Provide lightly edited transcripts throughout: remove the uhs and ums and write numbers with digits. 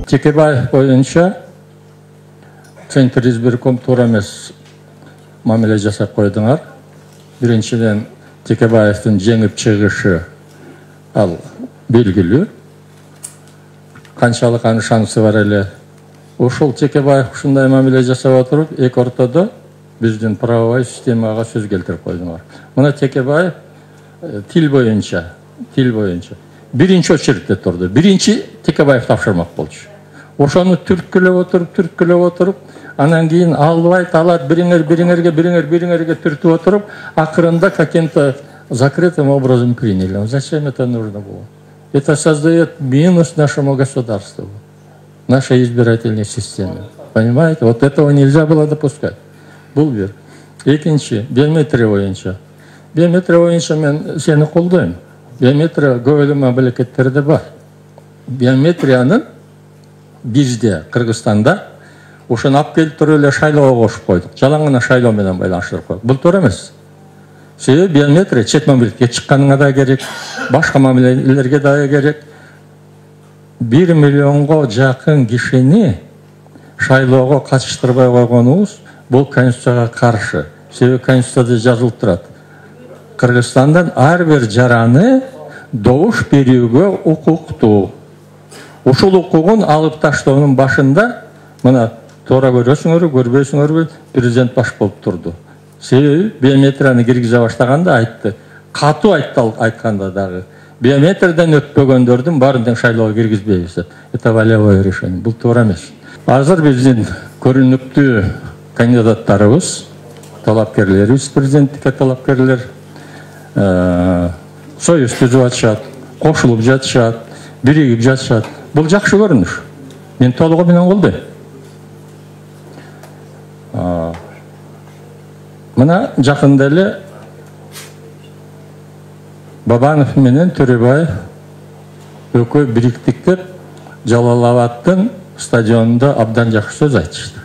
Текебаев боюнча Центр избирком туура эмес мамиле жасап койдуңар. Биринчиден Текебаевдин жеңип чыгышы ал белгилүү. Канчалык анын шансы бар эле. Ошол Текебаев ушундай мамиле жасап отуруп, эки ортодо биздин правовой системага сөз келтирип койдуңар. Мына Текебаев тил боюнча биринчи очередте турду. Биринчи Текебаев тапшырмак болчу. Ошону түрткүлөп отуруп, анан кийин албайт, алат, бириңерге түртүп отуруп, акырында каким-то закрытым образом приняли. Зачем это нужно было? Это создает минус нашему государству, нашей избирательной системе. Понимаете? Вот этого нельзя было допускать. Бул бир. Экинчи, биометрия боюнча. Биометрия боюнча мен сени колдойм. Биометрия көп эле мамлекеттерде бар. Биометриянын бизде, Кыргызстанда, ошону алып келип туруп эле шайлоого кошуп койдук. Жалаң гана шайлоо менен байланыштырып койдук. Бул туура эмес. Себеби биометрия чет мамлекетке чыкканыңа да керек, башка мамилелерге да керек. 1 миллионго жакын кишини шайлоого катыштырбай койгонубуз бул Конституцияга каршы. Себеби Конституцияда жазылып турат. Кыргызстандан ар бир жараны добуш берүүгө укуктуу. Ушул укугун алып таштоонун башында мына туура көрөсүңөрбү, көрбөйсүңөрбү, президент баш болуп турду. Себеби биометрияны киргизе баштаганда айтты. Катуу айтканда дагы биометриядан өтпөгөндөрдүн баарын тең шайлоого киргизбейбиз деп. Это волевое решение. Бул туура эмес. Азыр биздин көрүнүктүү кандидаттарыбыз, талапкерлерибиз, президенттикке талапкерлер союз түзүп атышат, кошулуп жатышат, биригип жатышат. Бул жакшы көрүнүш. Мен толугу менен колдойм. Мына жакында эле Бабанов менен Төрөбаев экөө бириктик деп Жалал-Абадтын стадионунда абдан жакшы сөз айтышты.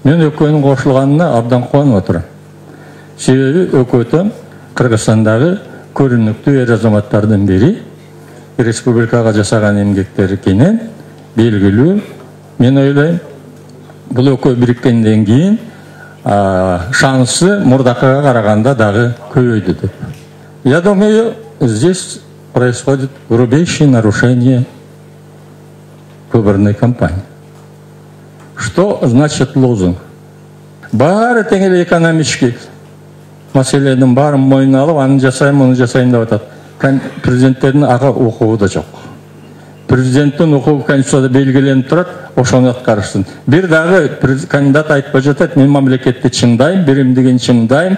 Мен экөөнүн кошулганына абдан кубанып отурам. Себеби экөөтөн Кыргызстандагы көрүнүктүү эр азаматтардын бири, республикага жасаган эмгектери кенен белгилүү. Мен ойлойм, бул экөө бириккенден кийин шансы мурдакыга караганда дагы көбөйдү деп. Я думаю, здесь происходит грубейшее нарушение выборной кампании. Что значит лозунг? Баары тең эле экономический маселенин баарын мойнуна алып, аны жасайм, муну жасайм деп атат. Президенттердин ага укугу да жок. Президенттин укугу Конституцияда белгиленип турат, ошону аткарышсын. Бир дагы кандидат айтып жатат, мен мамлекетти чыңдайм, биримдигин чыңдайм,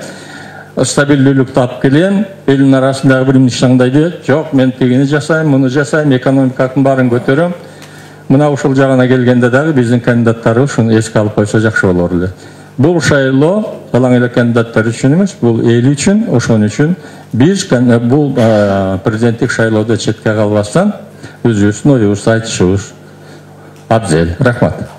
стабилдүүлүктү алып келем, элдин арасындагы биримдик чыңдай дейт. Жок, мен тигини жасайм, муну жасайм, экономиканын баарын көтөрөм. Мына ушул жагына келгенде дагы биздин кандидаттарыбыз ушуну эске алып койсо жакшы болор эле. Бул шайлоо жалаң эле кандидаттар үчүн эмес, бул эл үчүн, ошон үчүн биз бул президенттик шайлоодо четке калбастан өзүбүздүн оюбузду айтышыбыз абзел. Рахмат.